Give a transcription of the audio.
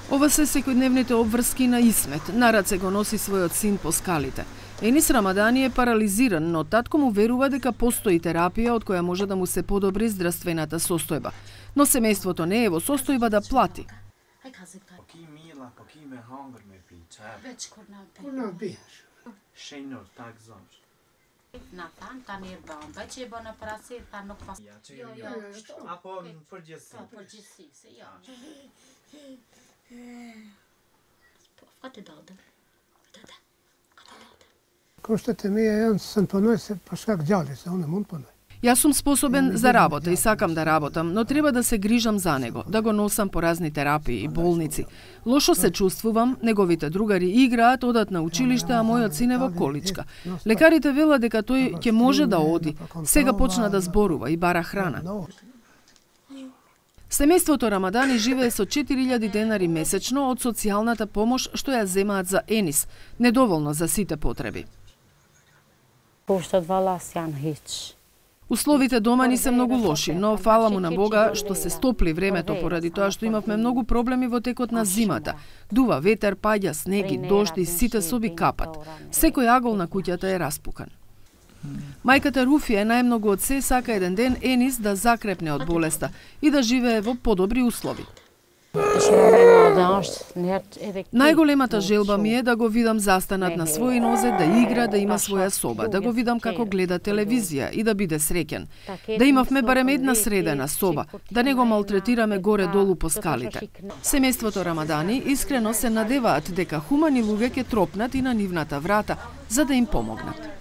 Ова се секојдневните обврски на Исмет. На раце го носи својот син по скалите. Енис Рамадани е парализиран, но татко му верува дека постои терапија од која може да му се подобри здравствената состојба. Но семејството не е во состојба да плати. Коштате ми е, сам поној се пашкак ѓали се, он не мон поној. Јас сум способен за работа и сакам да работам, но треба да се грижам за него, да го носам по разни терапии и болници. Лошо се чувствувам, неговите другари играат, одат на училиште, а мојот син е во количка. Лекарите велат дека тој ќе може да оди. Сега почна да зборува и бара храна. Семејството Рамадани живее со 4000 денари месечно од социјалната помош што ја земаат за Енис, недоволно за сите потреби. Условите дома ни се многу лоши, но фала му на Бога што се стопли времето поради тоа што имавме многу проблеми во текот на зимата. Дува ветер, паѓа снег и дожд и сите соби капат. Секој агол на куќата е распукан. Мајката Руфија најмногу од се сака еден ден Енис да закрепне од болеста и да живее во подобри услови. Најголемата желба ми е да го видам застанат на своји нозе, да игра, да има своја соба, да го видам како гледа телевизија и да биде среќен. Да имавме барем една средена соба, да не го малтретираме горе-долу по скалите. Семејството Рамадани искрено се надеваат дека хумани луѓе ќе тропнат и на нивната врата за да им помогнат.